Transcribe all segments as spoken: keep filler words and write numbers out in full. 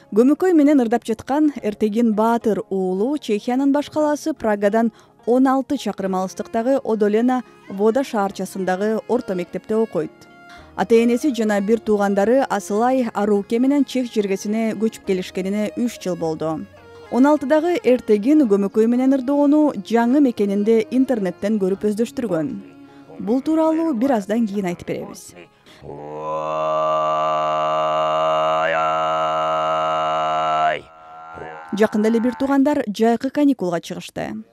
Көмөкөй менен ырдап жаткан Эртегин Баатыр уулу Чехиянын баш калаасы Прагадан он алты чакырым алыстыктагы Одолена Вода шаарчасындагы орто мектепте окуйт. Ата-энеси жана бир туугандары Асылай Аруке менен Чех жергесине көчүп келишкенине үч жыл болду. он алтыдагы Эртегин көмөкөй менен ырдоону жаңы мекенинде интернеттен көрүп өздөштүргөн. Бул тууралуу бир аздан кийин айтып беребиз. Жакында эле бир туугандар жайкы каникулга чыгышты.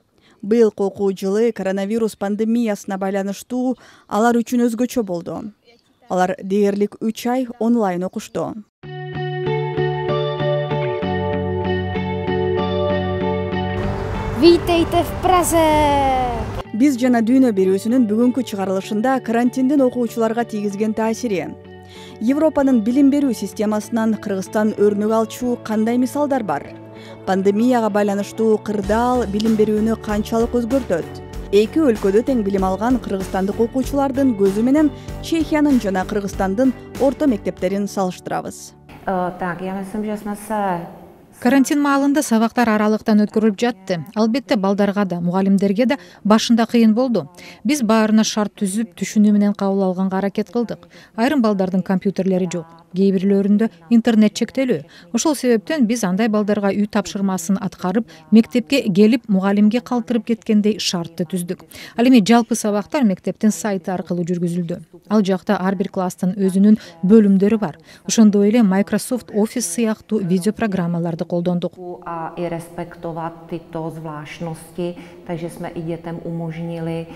Быйылкы окуу жылы коронавирус пандемиясына байланыштуу алар үчүн өзгөчө болду. Алар дээрлик үч ай онлайн окушту. Витайте в Празе! Биз жана дүйнө берүүсүнүн бүгүнкү чыгарылышында карантиндин окуучуларга тийгизген таасири, Европанын билим берүү системасынан Кыргызстан өрнөк алчу кандай мисалдар бар? Пандемияга байланыштуу кырдаал билим берүүнү канчалык өзгөртөт? Эки өлкөдө тең билим алган кыргызстандык окуучулардын көзү менен Чехиянын жана Кыргызстандын орто мектептерин салыштырабыз. Так, я myslím, že jsme se Карантин маалында сабактар аралыктан өткөрүлүп жатты. Албетте балдарга да, мугалимдерге да башында кыйын болду. Биз баарына шарт түзүп, түшүнүү менен кабыл алганга аракет кылдык. Айрым балдардын компьютерлери жок, кээ бирлөрүндө интернет чектелүү. Ошол себептен биз андай балдарга үй тапшырмасын аткарып, мектепке келип, мугалимге калтырып кеткендей шартты түздүк. Ал эми жалпы сабактар мектептин сайты аркылуу жүргүзүлдү. Ал жакта ар бир класстын өзүнүн бөлүмдөрү бар. Ошондой эле Microsoft Office сыяктуу видео программаларды колдондук. a i respektovat tyto zvláštnosti, takže jsme i dětem umožnili.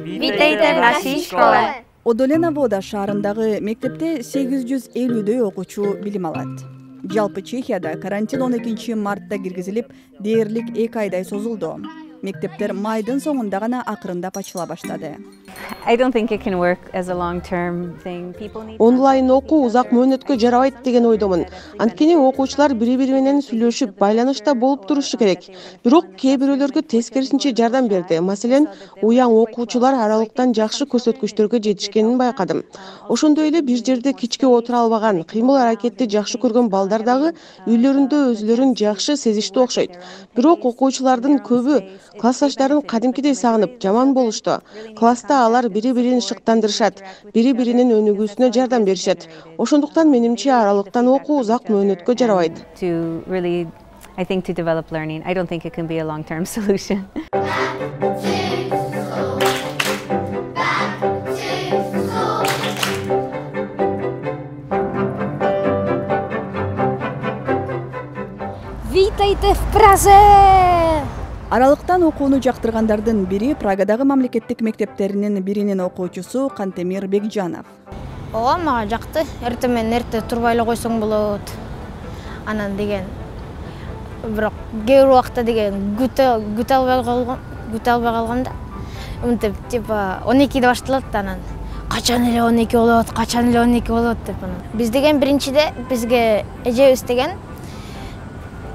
Витайте в нашей школе! Одолена Вода шаарындагы мектепте сегиз жүз элүүдөй окуучу билим алат. Жалпы Чехияда карантин он экинчи мартта киргизилип, дээрлик эки айдай созулду. Мектептер майдын соңунда гана акырындап ачыла баштады. Онлайн окуу узак мөөнөткө жарабайт деген ойдомун. Анткени окуучулар бири-бири менен сүйлөшүп, байланышта болуп турушу керек. Бирок кээ бирөөлөргө тескерисинче жардам берди. Маселен, уяң окуучулар аралыктан жакшы көрсөткүчтөргө жетишкенин байкадым. Ошондой эле бир жерде кичке отура албаган, кыймыл-аракетти жакшы көргөн балдар дагы үйлөрүндө өзүлөрүн жакшы сезиштүү окшойт. Бирок окуучулардын көбү классташтарын кадимкидей сагынып, жаман болушту. Класста алар бири-бирин шыктандырышат, бири-биринин өнүгүүсүнө жардам беришет. Ошондуктан менимче аралыктан окуу узак мөөнөткө жарабайт. I think to develop learning, I don't think it can be a long-term solution. Витайте в Празе! Аралыктан окууну жактыргандардын бири Прагадагы мамлекеттик мектептеринин биринин окуучусу Кантемир Бекжанов. Ооба, мага жакты. Эртең менен эрте турбай эле койсоң болот. Анан деген бирок кээ бир убакта деген күтө күтө албай калган, күтө албай калганда мынтип типа он экиде башталат, анан качан эле он эки болот, качан эле он эки болот деп анан. Биз деген биринчиде бизге эжебиз деген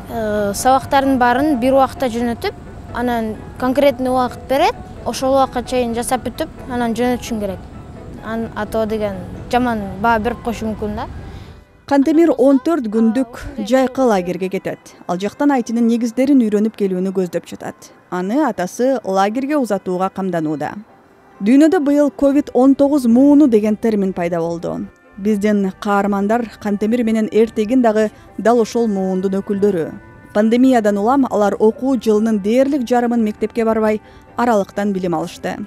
сабактардын баарын бир убакта жөнөтүп, анан конкретный убакыт берет, ошол убакка чейин жасап бүтүп, анан жөнөтүшүң керек. Ан ато деген жаман баа берип коюшу мүмкүн да. Кантемир он төрт күндүк жайкы лагерге кетет. Ал жактан айтынын негиздерин үйрөнүп келүүнү көздөп жатат. Аны атасы лагерге узатууга камданууда. Дүйнөдө быйыл ковид он тогуз мууну деген термин пайда болду. Биздин каармандар Кантемир менен Эртегин дагы дал ошол муундун өкүлдөрү. Пандемиядан улам алар окуу жылынын дээрлик жарымын мектепке барбай, аралыктан билим алышты.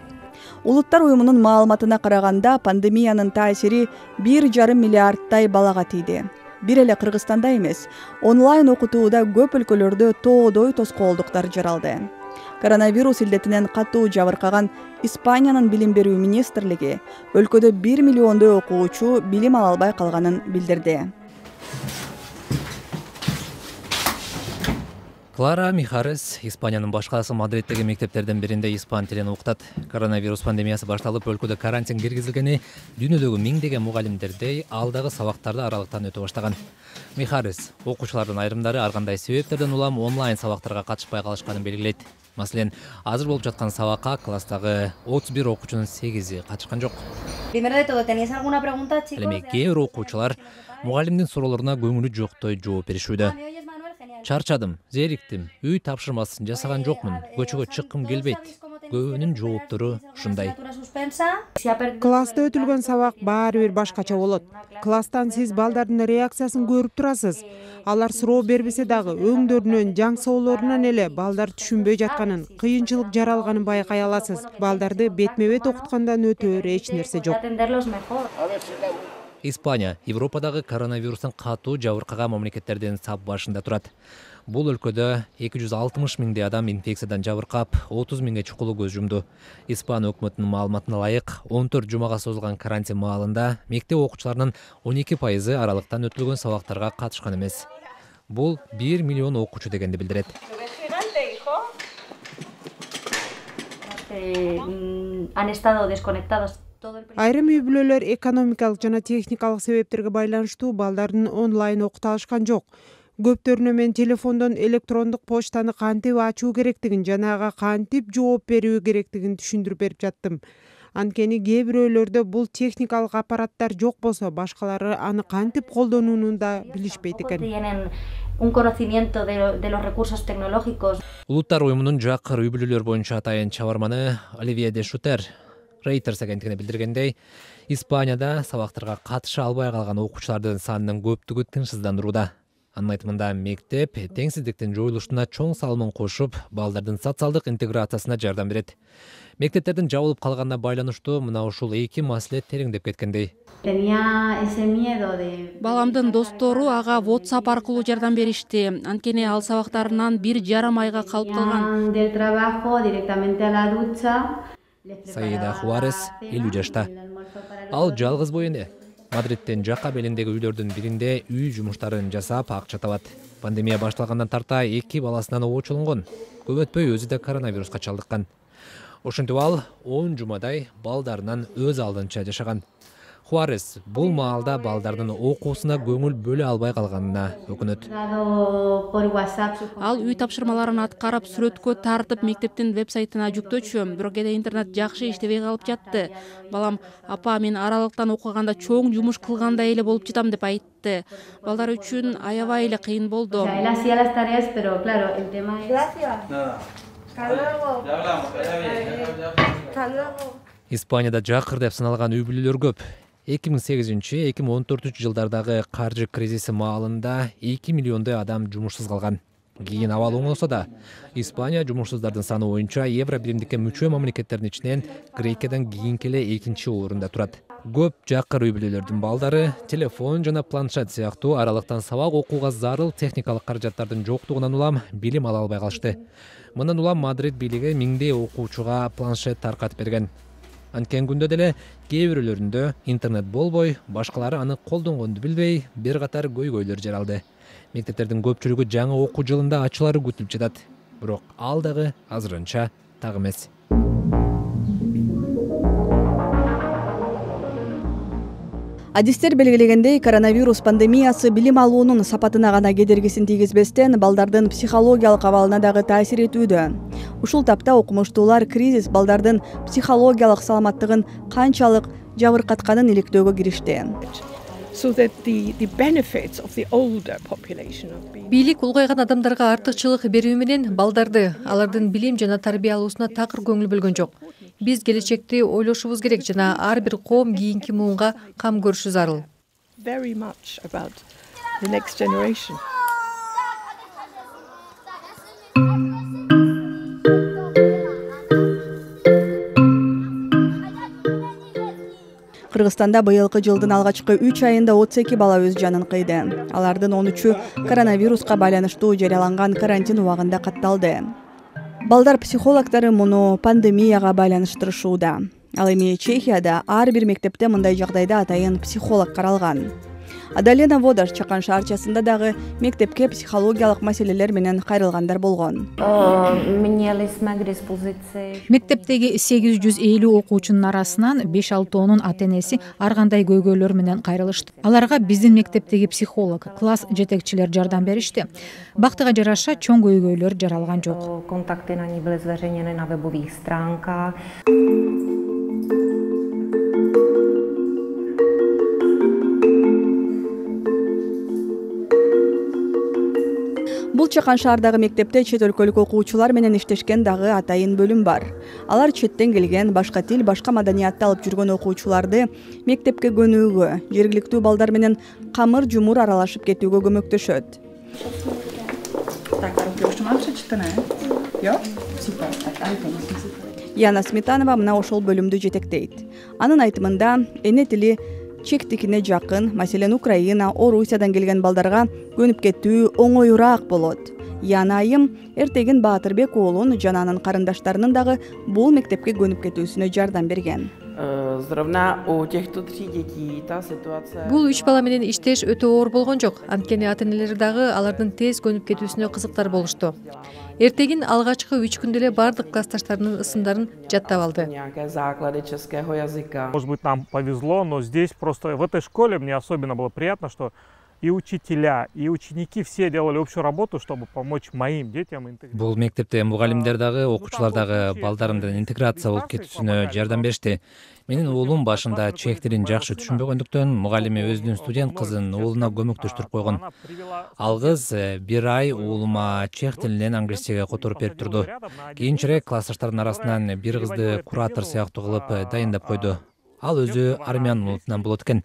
Улуттар уюмунун маалыматына караганда, пандемиянын таасири бир жарым миллиардтай балага тийди. Бир эле Кыргызстанда эмес, онлайн окутууда көп өлкөлөрдө тоодой тоскоолдуктар жаралды. Коронавирус илдетинен катуу жабыркаган Испаниянын билим берүү министрлиги өлкөдө бир миллиондой окуучу билим ала албай калганын билдирди. Клара Михарес Испаниянын баш каласы Мадриттеги мектептерден биринде испан тилин окутат. Коронавирус пандемиясы башталып, өлкөдө карантин киргизилгени дүйнөдөгү миңдеген мугалимдердей алдагы сабактарды аралыктан өтө баштаган. Михарес окуучулардын айрымдары ар кандай себептерден улам онлайн сабактарга катышпай калышканын белгилейт. Маселен, азыр болуп жаткан сабакка класстагы отуз бир окуучунун сегизи катышкан жок. Ал эми кээ бир окуучулар мугалимдин суроолоруна көңүлү жоктой жооп беришүүдө. Чарчадым, зериктим, үй тапшырмасын жасаган жокмун, көчөгө чыккым келбейт. Көбүнүн жооптору ушундай. Класста өтүлгөн сабак баары бир башкача болот. Класстан сиз балдардын реакциясын көрүп турасыз. Алар суроо бербесе дагы өңдөрүнөн, жаң соолорунан эле балдар түшүнбөй жатканын, кыйынчылык жаралганын байкай аласыз. Балдарды бетме-бет окуткандан өтөөр эч нерсе жок. Испания Европадагы коронавирустун катуу жабыркаган мамлекеттердин сап башында турат. Бул өлкөдө эки жүз алтымыш миңдей адам инфекциядан жабыркап, отуз миңге чукулу көз жумду. Испан өкмөтүнүн маалыматына ылайык, он төрт жумага созулган карантин маалында мектеп окуучуларынын он эки пайызы аралыктан өтүлгөн сабактарга катышкан эмес. Бул бир миллион окуучу дегенди билдирет. Айрым үй бүлөлөр экономикалык жана техникалык себептерге байланыштуу балдарын онлайн окута алышкан жок. Көптөрүнө мен телефондон электрондук почтаны кантип ачуу керектигин жана ага кантип жооп берүү керектигин түшүндүрүп берип жаттым. Анткени кээ бирөөлөрдө бул техникалык аппараттар жок болсо, башкалары аны кантип колдонууну да билишпейт экен. Улуттар уюмунун жакыр үй бүлөлөр боюнча атайын чабарманы Оливье де Шутер Reuters агенттигине билдиргендей, Испанияда сабактарга катыша албай калган окуучулардын санынын көптүгү тынчсыздандырууда. Анын айтымында, мектеп теңсиздиктин жоюлушуна чоң салымын кошуп, балдардын социалдык интеграциясына жардам берет. Мектептердин жабылып калганына байланыштуу мына ушул эки маселе тереңдеп кеткендей. Баламдын достору ага WhatsApp аркылуу жардам беришти. Анткени ал сабактарынан бир жарым айга калып калган. Саида Хуарес элүү жашта. Ал жалгыз бой эне. Мадриттин жакка белиндеги үйлөрдүн биринде үй жумуштарын жасап акча табат. Пандемия башталгандан тарта эки баласынан обочолонгон. Көп өтпөй өзү да коронавируска чалдыккан. Ошентип ал он жумадай балдарынан өз алдынча жашаган. Хуарес бул маалда балдардын окуусуна көңүл бөлө албай калганына өкүнөт. Ал үй тапшырмаларын аткарып, сүрөткө тартып, мектептин вебсайтына жүктөчү, бирок кээде интернет жакшы иштебей калып жатты. Балам, апа, мен аралыктан окуганда чоң жумуш кылгандай эле болуп жатам деп айтты. Балдар үчүн аябай эле кыйын болду. Испанияда жакыр деп саналган үй бүлөлөр көп. эки миң сегизинчи эки миң он төртүнчү жылдардагы каржы кризиси маалында эки миллиондой адам жумушсуз калган. Кийин абал оңосо да, Испания жумушсуздардын саны боюнча Евро биримдикке мүчө мамлекеттердин ичинен Грекиядан кийинки эле экинчи орунда турат. Көп жакыр үй бүлөлөрдүн балдары телефон жана планшет сыяктуу аралыктан сабак окууга зарыл техникалык каражаттардын жоктугунан улам билим ала албай калышты. Мындан улам Мадрид бийлиги миңдей окуучуга планшет таркатып берген. Анткени күндө деле кээ бирөөлөрүндө интернет болбой, башкалары аны колдонгонду билбей, бир катар көйгөйлөр жаралды. Мектептердин көпчүлүгү жаңы окуу жылында ачуулары күтүлүп жатат. Бирок ал дагы азырынча так эмес. Адистер белгилегендей, коронавирус пандемиясы билим алуунун сапатына гана кедергисин тийгизбестен, балдардын психологиялык абалына дагы таасир этүүдө. Ушул тапта окумуштуулар кризис балдардын психологиялык саламаттыгын канчалык жабыркатканын иликтөөгө киришти. Бийлик улгайган адамдарга артыкчылык берүү менен балдарды, алардын билим жана тарбия алуусуна такыр көңүл бөлгөн жок. Биз келечекти ойлошубуз керек жана ар бир коом кийинки муунга кам көрүшү зарыл. Кыргызстанда быйылкы жылдын алгачкы үч айында отуз эки бала өз жанын кыйды. Алардын он үчү коронавируска байланыштуу жарыяланган карантин убагында катталды. Балдар психологдору муну пандемияга байланыштырышууда. Ал эми Чехияда ар бир мектепте мындай жагдайда атайын психолог каралган. Адалена Водаш Чакан шаарчасында дагы мектепке психологиялык маселелер менен кайрылгандар болгон. Мектептеги сегиз жүз элүү окуучунун арасынан беш алтоонун ата энеси ар кандай көйгөйлөр менен кайрылышты. Аларга биздин мектептеги психолог, класс жетекчилер жардам беришти. Бактыга жараша чоң көйгөйлөр жаралган жок. Kontakty na ní byly zveřejněny na webových stránkách. Бул Чакан шаардагы мектепте чет өлкөлүк окуучулар менен иштешкен дагы атайын бөлүм бар. Алар четтен келген, башка тил, башка маданиятты алып жүргөн окуучуларды мектепке көнүүгө, жергиликтүү балдар менен камыр жумур аралашып кетүүгө көмөктөшөт. Яна Сметанова мына ошол бөлүмдү жетектейт. Анын айтымында эне тили чектикине жакын, маселен Украина, Орусиядан келген балдарга көнүп кетүү оңоюраак болот. Яна айым эртеген Баатырбек уулун жана анын карындаштарынын дагы бул мектепке көнүп кетүүсүнө жардам берген. Бул үч бала менен иштеш өтө оор болгон жок. Анткени ата энелер дагы алардын тез көнүп кетүүсүнө кызыктар болушту. Эртегин алгачкы үч күндө эле бардык классташтарынын ысымдарын жаттап алды. Может быть, нам повезло, но здесь просто в этой школе мне особенно было приятно, что и учителя, и ученики все делали общую работу, чтобы помочь моим детям. Бул мектепте мугалимдер дагы, окуучулар дагы балдарымдын интеграция болуп кетүүсүнө жардам беришти. Менин уулум башында чех тилин жакшы түшүнбөгөндүктөн мугалими өзүнүн студент кызын уулуна көмөктөштүрүп койгон. Ал кыз бир ай уулума чех тилинен англисчеге которуп берип турду. Кийинчерээк классташтардын арасынан бир кызды куратор сыяктуу кылып дайындап койду. Ал өзү армян улутунан болот экен.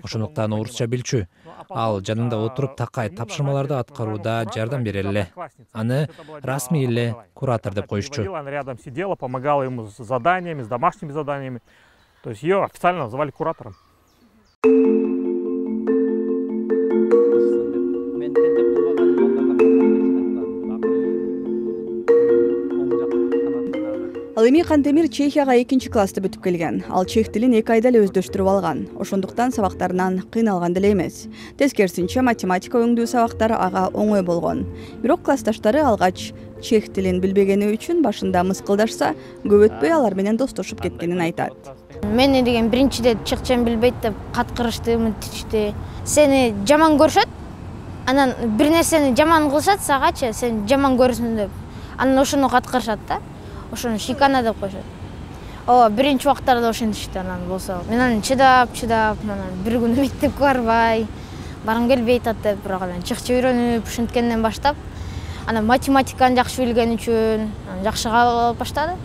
Ошондуктан орусча билчү. Ал жанында отуруп такай тапшырмаларды аткарууда жардам бере эле. Аны расмий эле куратор деп коюшчу. Она рядом сидела, помогала ему с заданиями, с домашними заданиями. То есть ее официально называли куратором. Ал эми Кантемир Чехияга экинчи классты бүтүп келген. Ал чех тилин эки айда эле өздөштүрүп алган. Ошондуктан сабактарынан кыйналган деле эмес. Тескерисинче математика өңдүү сабактары ага оңой болгон. Бирок классташтары алгач чех тилин билбегени үчүн башында мыскылдашса, көп өтпөй алар менен достошуп кеткенин айтат. Мени деген биринчиде чыкчан билбейт деп каткырышты, мынтичти. Сени жаман көрүшөт. Анан бир нерсени жаман кылышат сагачы, сен жаман көрүсүң деп. Анан ошону каткырышат да. Ошону шикана деп коюшат. О, биринчи убактарда ошентишти, анан болсо. Мен аны чыдап, чыдап, анан бир күн мектепке барбай, баргым келбей атат деп, бирок анан чыкча үйрөнүп, ушинткенден баштап, анан математиканы жакшы билген үчүн жакшы кабыл алып баштады.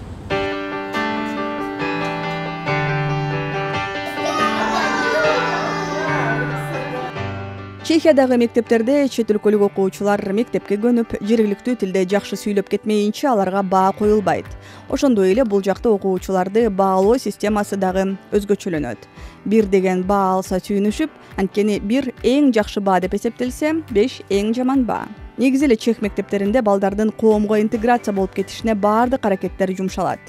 Чехиядагы мектептерде чет өлкөлүк окуучулар мектепке көнүп, жергиликтүү тилде жакшы сүйлөп кетмейинче аларга баа коюлбайт. Ошондой эле бул жакта окуучуларды баалоо системасы дагы өзгөчөлөнөт. Бир деген баа алса сүйүнүшүп, анткени бир эң жакшы баа деп эсептелсе, беш эң жаман баа. Негизи эле чех мектептеринде балдардын коомго интеграция болуп кетишине баардык аракеттер жумшалат.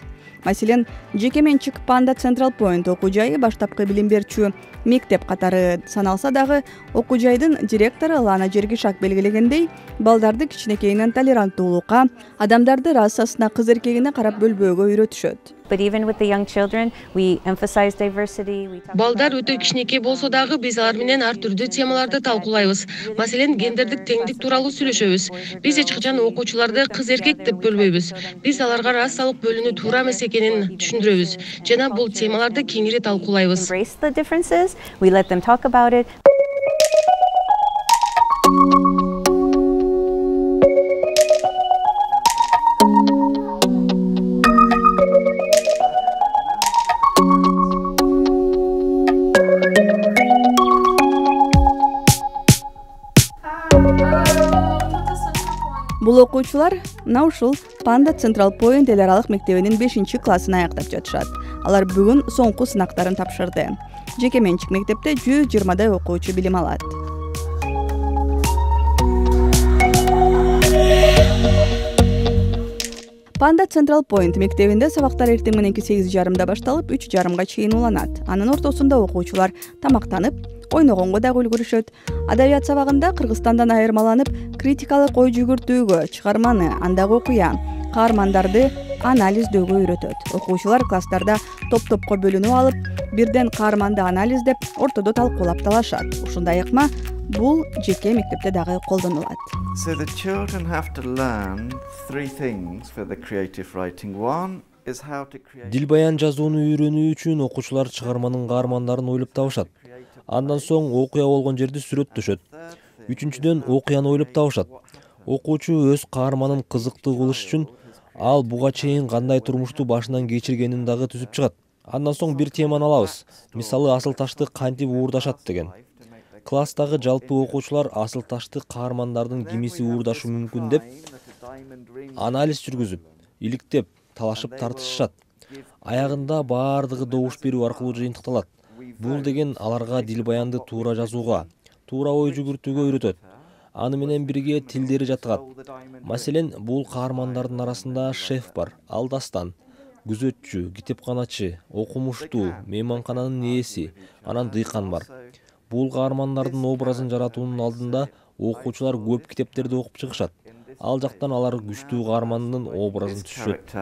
Маселен, жеке менчик Panda Central Point окуу жайы баштапкы билим берчү мектеп катары саналса дагы, окуу жайдын директору Лана Жергишак белгилегендей, балдарды кичинекейинен толеранттуулукка, адамдарды расасына, кыз эркегине карап бөлбөөгө үйрөтүшөт. Балдар өтө кичинекей болсо дагы биз алар менен ар түрдүү темаларды талкуулайбыз. Маселен, гендердик теңдик тууралуу сүйлөшөбүз. Биз эч качан окуучуларды кыз эркек деп бөлбөйбүз. Биз аларга расалык бөлүнүү туура эмес экенин түшүндүрөбүз жана бул темаларды кеңири талкуулайбыз. Бул окуучулар мына ушул Panda Central Point эл аралык мектебинин бешинчи классын аяктап жатышат. Алар бүгүн соңку сынактарын тапшырды. Жеке менчик мектепте жүз жыйырмадай окуучу билим алат. Panda Central Point мектебинде сабактар эртең мененки сегиз жарымда башталып, үч жарымга чейин уланат. Анын ортосунда окуучулар тамактанып, ойногонго дагы үлгүрүшөт. Адабият сабагында Кыргызстандан айырмаланып, критикалык ой жүгүртүүгө, чыгарманы, андагы окуя, каармандарды анализдөөгө үйрөтөт. Окуучулар класстарда топ-топко бөлүнүп алып, бирден каарманды анализдеп, ортодо талкуулап талашат. Ушундай ыкма бул жеке мектепте дагы колдонулат. So the children have to learn three things for the creative writing. One is how to create. Дил баян жазууну үйрөнүү үчүн окуучулар чыгарманын каармандарын ойлоп табышат. Андан соң окуя болгон жерди сүрөттөшөт. Үчүнчүдөн окуяны ойлоп табышат. Окуучу өз каарманын кызыктуу кылыш үчүн ал буга чейин кандай турмушту башынан кечиргенин дагы түзүп чыгат. Андан соң бир теманы алабыз. Мисалы, асыл ташты кантип уурдашат деген. Класстагы жалпы окуучулар асыл ташты каармандардын кимиси уурдашы мүмкүн деп анализ жүргүзүп, иликтеп, талашып тартышышат. Аягында баардыгы добуш берүү аркылуу жыйынтыкталат. Бул деген аларга дил баянды туура жазууга, туура ой жүгүртүүгө үйрөтөт. Аны менен бирге тилдери жаткат. Маселен, бул каармандардын арасында шеф бар, ал дастан, күзөтчү, китепканачы, окумуштуу, мейманкананын ээси, анан дыйкан бар. Бул каармандардын образын жаратуунун алдында окуучулар көп китептерди окуп чыгышат. Ал жактан алар күчтүү каармандын образын түшүшөт.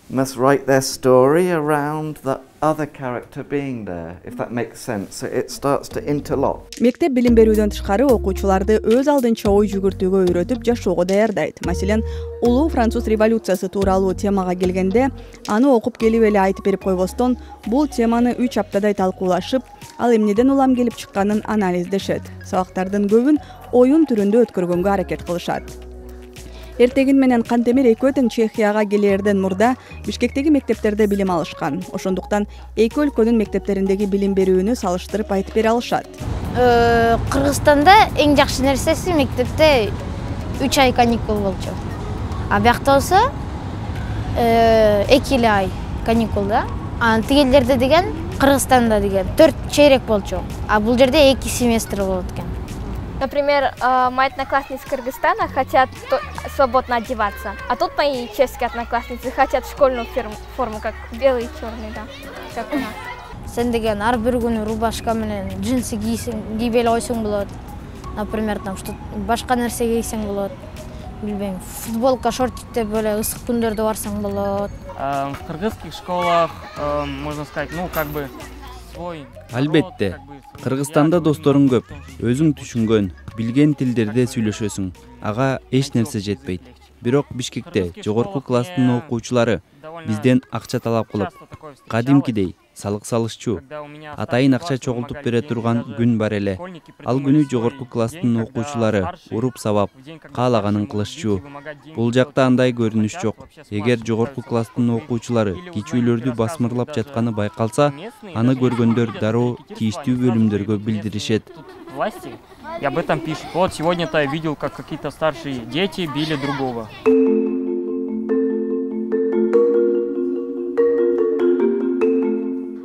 Must write their story around the other character being there, if that makes sense. So it starts to interlock. Мектеп билим берүүдөн тышкары окуучуларды өз алдынча ой жүгүртүүгө үйрөтүп жашоого даярдайт. Маселен, улуу француз революциясы тууралуу темага келгенде, аны окуп келип эле айтып берип койбостон, бул теманы үч аптадай талкуулашып, ал эмнеден улам келип чыкканын анализдешет. Сабактардын көбүн оюн түрүндө өткөргөнгө аракет кылышат. Эртегин менен Кантемир экөө тең Чехияга келерден мурда Бишкектеги мектептерде билим алышкан. Ошондуктан эки өлкөнүн мектептериндеги билим берүүнү салыштырып айтып бере алышат. Кыргызстанда эң жакшы нерсеси мектепте үч ай каникул болчу. А биякта болсо эки эле ай каникул да. А тигелерде деген Кыргызстанда деген төрт чейрек болчу. А бул жерде эки семестр болот экен. Например, мои одноклассницы из Кыргызстана хотят свободно одеваться, а тут мои чешские одноклассницы хотят школьную форму, как белый и черный, да, как у нас. Сен деген ар бир күнү рубашка менен джинсы кийип эле койсоң болот. Например, там что башка нерсе кийсең болот. Билбейм, футболка, шортик деп эле ысык күндөрдө барсаң болот. В кыргызских школах, можно сказать, ну как бы свой. Албетте, Кыргызстанда досторуң көп, өзүң түшүнгөн, билген тилдерде сүйлөшөсүң. Ага эч нерсе жетпейт. Бирок Бишкекте жогорку класстын окуучулары бизден акча талап кылып, кадимкидей салык салышчу, атайын акча чогултуп бере турган күн бар эле. Ал күнү жогорку класстын окуучулары уруп сабап, каалаганын кылышчу. Бул жакта андай көрүнүш жок. Эгер жогорку класстын окуучулары кичүүлөрдү басмырлап жатканы байкалса, аны көргөндөр дароо тийиштүү бөлүмдөргө билдиришет. Власти и об этом пишут. Вот сегодня-то я видел, как какие-то старшие дети били другого.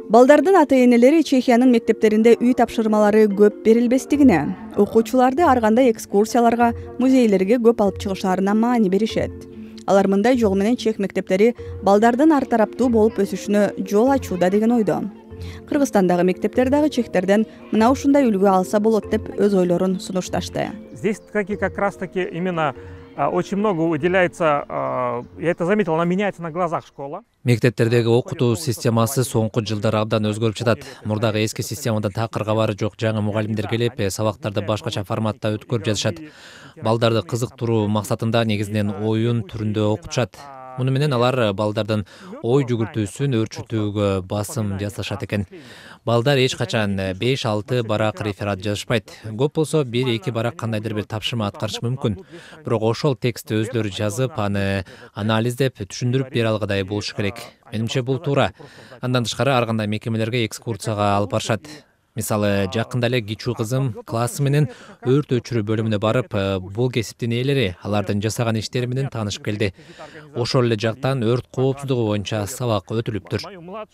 Балдардын ата-энелери Чехиянын мектептеринде үй тапшырмалары көп берилбестигине, окуучуларды ар кандай экскурсияларга, музейлерге көп алып чыгышаарына маани беришет. Алар мындай жол менен чех мектептери балдардын ар тараптуу болуп өсүшүнө жол ачууда деген ойдо. Кыргызстандагы мектептер дагы чехтерден мына ушундай үлгү алса болот деп өз ойлорун сунушташты. Здесь как раз-таки именно очень много уделяется, я это заметил, она меняется на глазах школа. Мектептердеги окутуу системасы соңку жылдары абдан өзгөрүп жатат. Мурдагы эски системада такыр кабары жок жаңы мугалимдер келип, сабактарды башкача форматта өткөрүп жатышат. Балдарды кызыктыруу максатында негизинен оюн түрүндө окутушат. Муну менен алар балдардын ой жүгүртүүсүн өөрчүтүүгө басым жасашат экен. Балдар эч качан беш алты барак реферат жазышпайт. Көп болсо бир эки барак кандайдыр бир тапшырма аткарышы мүмкүн. Бирок ошол текстти өзлөрү жазып, аны анализдеп, түшүндүрүп бере алгыдай болушу керек. Менимче бул туура. Андан тышкары ар кандай мекемелерге экскурсияга алып барышат. Мисалы, жакында эле кичүү кызым классы менен өрт өчүрүү бөлүмүнө барып, бул кесиптин ээлери алардын жасаган иштери менен таанышып келди. Ошол эле жактан өрт коопсуздугу боюнча сабак өтүлүптүр.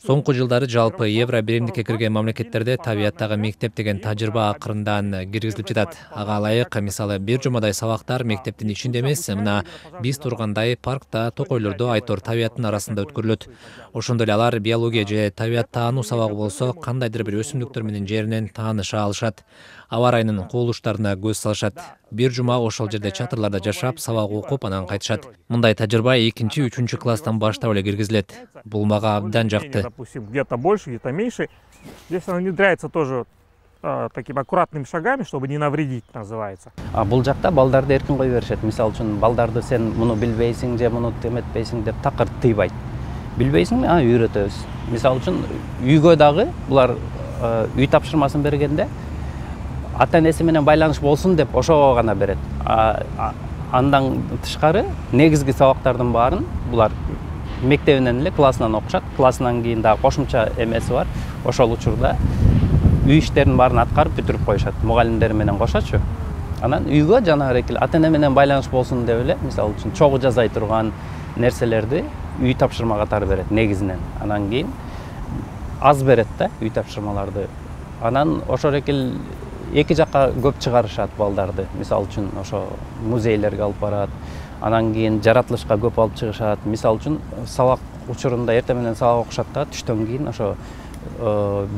Соңку жылдары жалпы Евро биримдикке кирген мамлекеттерде табияттагы мектеп деген тажрыйба акырындан киргизилип жатат. Ага ылайык, мисалы, бир жумадай сабактар мектептин ичинде эмес, мына биз тургандай паркта, токойлордо айтор табияттын арасында өткөрүлөт. Ошондой эле алар биология же табият таануу сабагы болсо, кандайдыр бир өсүмдүктөр менен жеринен тааныша алышат. Аба ырайынын кубулуштарына көз салышат. Бир жума ошол жерде чатырларда жашап, сабак окуп, анан кайтышат. Мындай тажрыйба экинчи, үчүнчү класстан баштап эле киргизилет. Бул мага абдан жакты. Допустим, где-то больше, где-то меньше. Здесь она внедряется тоже э, такими аккуратными шагами, чтобы не навредить, называется. А бул жакта балдарды эркин кое беришет. Мисалы үчүн балдарды сен муну билбейсиң же муну эметпейсиң деп такыр тыйбайт. Билбейсиңби? А, үйрөтөбүз. Мисалы үчүн үйгө дагы булар үй тапшырмасын бергенде ата-энеси менен байланыш болсун деп ошого гана берет. Андан тышкары негизги сабактардын баарын булар мектебинен эле классынан окушат. Классынан кийин дагы кошумча эмеси бар. Ошол учурда үй иштерин баарын аткарып бүтүрүп коюшат. Мугалимдер менен кошочу. Анан үйгө жанагы эле ата-эне менен байланыш болсун деп эле, мисалы үчүн чогуу жазай турган нерселерди үй тапшырма катары берет негизинен. Анан кийин аз берет да үй тапшырмаларды. Анан ошол экил эки жакка көп чыгарышат балдарды. Мисалы үчүн ошо музейлерге алып барат. Анан кийин жаратылышка көп алып чыгышат. Мисалы үчүн сабак учурунда эртең менен сабак окушат да, түштөн кийин ошо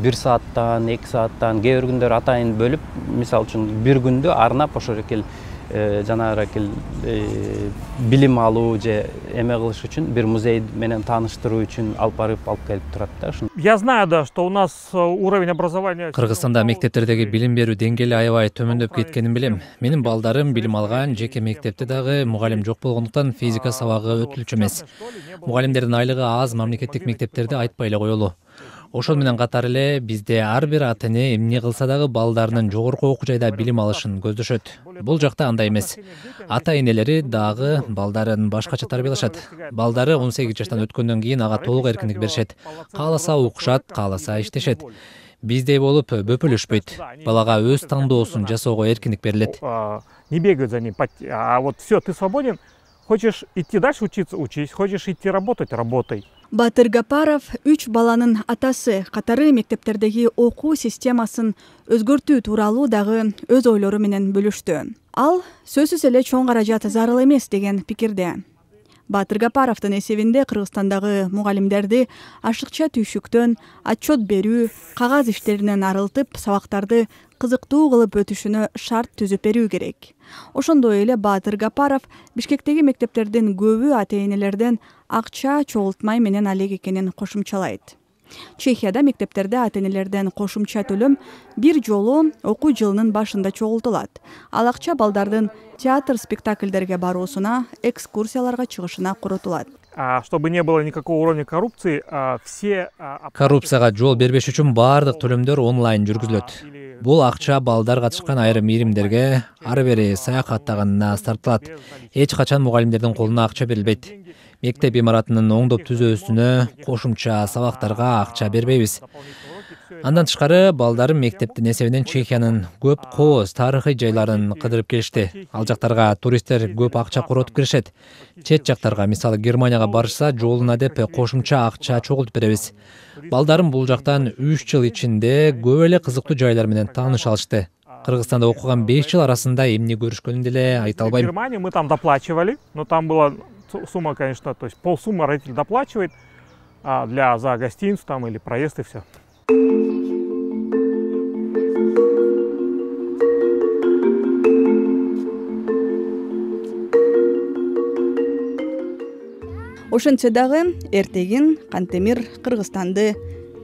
бир сааттан, эки сааттан, кээ бир күндөр атайын бөлүп, мисалы үчүн бир күндү арнап ошол экил жанагы экил билим алуу же эме кылыш үчүн, бир музей менен тааныштыруу үчүн алып барып алып келип турат да. Я знаю, да, что у нас уровень образования. Кыргызстанда мектептердеги билим берүү деңгээли аябай төмөндөп кеткенин билем. Менин балдарым билим алган жеке мектепте дагы мугалим жок болгондуктан физика сабагы өтүлчү эмес. Мугалимдердин айлыгы аз мамлекеттик мектептерде айтпай эле коелу. Ошол менен катар эле бизде ар бир ата-эне эмне кылса дагы балдарынын жогорку окуу жайда билим алышын көздөшөт. Бул жакта андай эмес. Ата-энелери дагы балдарын башкача тарбиялашат. Балдары он сегиз жаштан өткөндөн кийин ага толук эркиндик беришет. Кааласа окушат, кааласа иштешет. Биздей болуп бөпөлөшпөйт. Балага өз тандоосун жасоого эркиндик берилет. Не бегают за ним, а вот все, ты свободен. Хочешь идти дальше учиться, учись. Хочешь идти работать, работай. Батыр Гапаров үч баланын атасы, катары мектептердеги окуу системасын өзгөртүү тууралуу дагы өз ойлору менен бөлүштү. Ал сөзсүз эле чоң каражат зарыл эмес деген пикирде. Батыр Гапаровдун эсебинде Кыргызстандагы мугалимдерди ашыкча түйшүктөн отчет берүү, кагаз иштеринен арылтып, сабактарды кызыктуу кылып өтүшүнө шарт түзүп берүү керек. Ошондой эле Батыр Гапаров Бишкектеги мектептердин көбү ата-энелерден акча чогултмай менен алек экенин кошумчалайт. Чехияда мектептерде ата-энелерден кошумча төлөм бир жолу окуу жылынын башында чогултулат. Ал акча балдардын театр спектакльдерге баруусуна, экскурсияларга чыгышына коротулат. Чтобы не было никакого уровня коррупции, все... Коррупцияга жол бербеш үчүн баардык төлөмдөр онлайн жүргүзүлөт. Бул акча балдар катышкан айрым ийримдерге ары бери саякаттаганына тартылат. Эч качан мугалимдердин колуна акча берилбейт. Мектеп имаратынын оңдоп түзүүсүнө, кошумча сабактарга акча бербейбиз. Андан тышкары балдарым мектептин эсебинен Чехиянын көп кооз тарыхый жайларын кыдырып келишти. Ал жактарга туристтер көп акча коротуп киришет. Чет жактарга, мисалы Германияга барышса, жолуна деп кошумча акча чогултуп беребиз. Балдарым бул жактан үч жыл ичинде көп эле кызыктуу жайлар менен тааныша алышты. Кыргызстанда окуган беш жыл арасында эмне көрүшкөнүн деле айта албайм. В Германии мы там доплачивали, но там была сумма, конечно, то есть полсуммы родитель доплачивает для за гостиницу там или проезд и все. Ошентсе дагы эртегин Кантемир Кыргызстанды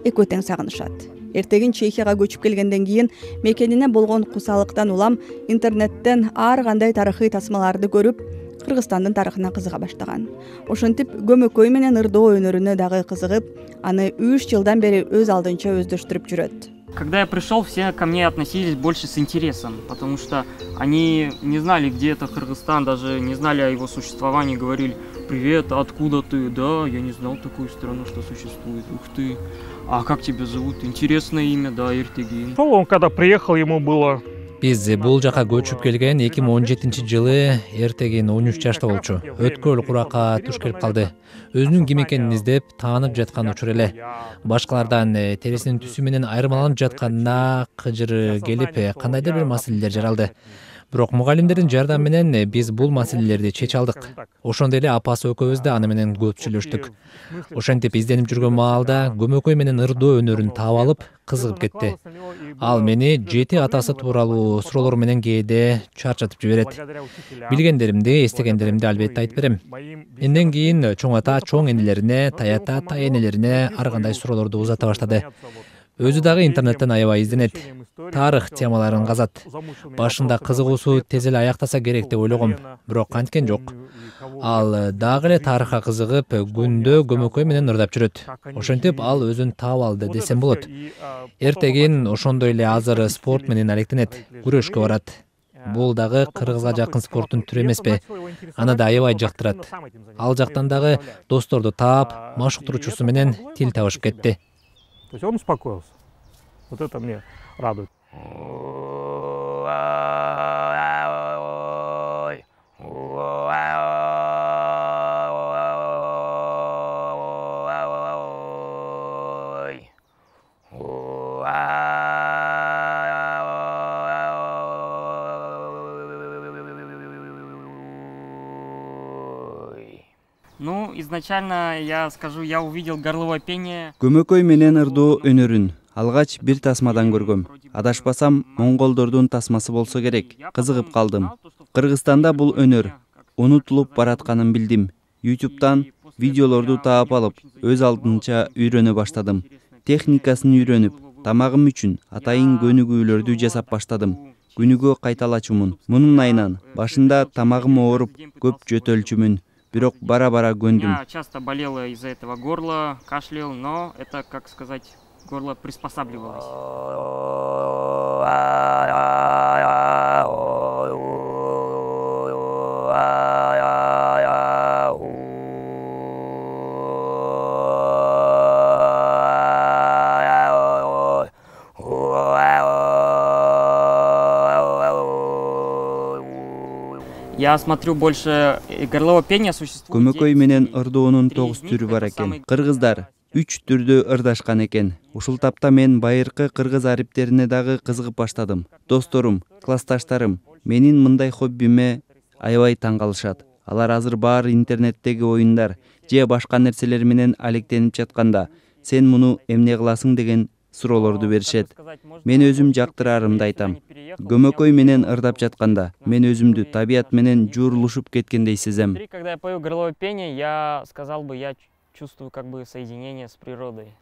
экөө тең сагынышат. Эртегин Чехияга көчүп келгенден кийин мекенине болгон кусалыктан улам интернеттен ар кандай тарыхый тасмаларды көрүп, Кыргызстандын тарыхына кызыга баштаган. Ошентип көмөкөй менен ырдоо өнөрүнө дагы кызыгып, аны үч жылдан бери өз алдынча өздөштүрүп жүрөт. Когда я пришел, все ко мне относились больше с интересом, потому что они не знали, где это Кыргызстан, даже не знали о его существовании, говорили: «Привет, откуда ты?» «Да, я не знал такую страну, что существует». «Ух ты! А как тебя зовут?» «Интересное имя, да, Эртегин». Он когда приехал, ему было... Биз бул жака көчүп келген эки миң он жетинчи жылы Эртегин он үч жашта болчу. Өткөл куракка туш келип калды. Өзүнүн ким экенин издеп, таанып жаткан учур эле. Башкалардан терисинин түсү менен айырмаланып жатканына кыжыры келип, кандайдыр бир маселелер жаралды. Бирок мугалимдердин жардамы менен биз бул маселелерди чече алдык. Ошондой эле апасы экөөбүз да аны менен көп сүйлөштүк. Ошентип изденип жүргөн маалда көмөкөй менен ырдоо өнөрүн таап алып, кызыгып кетти. Ал мени жети атасы тууралуу суроолор менен кээде чарчатып жиберет. Билгендеримди, эстегендеримди албетте айтып берем. Энден кийин чоң ата чоң энелерине, таята тай энелерине ар кандай суроолорду узата баштады. Өзү дагы интернеттен аябай изденет. Тарых темаларын казат. Башында кызыгуусу тез эле аяктаса керек деп ойлогом, бирок канткен жок. Ал дагы эле тарыхка кызыгып, күндө көмөкөй менен ырдап жүрөт. Ошентип ал өзүн таап алды десем болот. Эртегин ошондой эле азыр спорт менен алектенет, күрөшкө барат. Бул дагы кыргызга жакын спорттун түрү эмеспи? Аны да аябай жактырат. Ал жактан дагы досторду таап, машыктыруучусу менен тил табышып кетти. То есть он успокоился. Вот это мне радует. Ну, изначально я скажу, я увидел горловое пение. Көмөкөй менен ырдоо өнөрүн алгач бир тасмадан көргөм. Адашпасам, монголдордун тасмасы болсо керек. Кызыгып калдым. Кыргызстанда бул өнөр унутулуп баратканын билдим. ютубтан видеолорду таап алып, өз алдынча үйрөнө баштадым. Техникасын үйрөнүп, тамагым үчүн атайын көнүгүүлөрдү жасап баштадым. Күнүгө кайталачумун. Мунун айынан башында тамагым ооруп, көп жөтөлчүмүн. Бирок бара-бара көндүм. Я часто болела из-за этого горла, кашлял, но это, как сказать, горло приспосабливалось. Я смотрю, больше горловое пение существует. Көмөкөй менен ырдоонун тогуз түрү бар экен. Кыргыздар үч түрдө ырдашкан экен. Ушул тапта мен байыркы кыргыз ариптерине дагы кызыгып баштадым. Досторум, классташтарым менин мындай хоббиме аябай таң калышат. Алар азыр баары интернеттеги оюндар же башка нерселер менен алектенип жатканда, сен муну эмне кыласың деген суроолорду беришет. Мен өзүм жактырарымды айтам. Көмөкөй менен ырдап жатканда, мен өзүмдү табият менен жуурулушуп кеткендей сезем. Когда я пою горловое пение, я сказал бы, я чувствую как бы соединение с природой.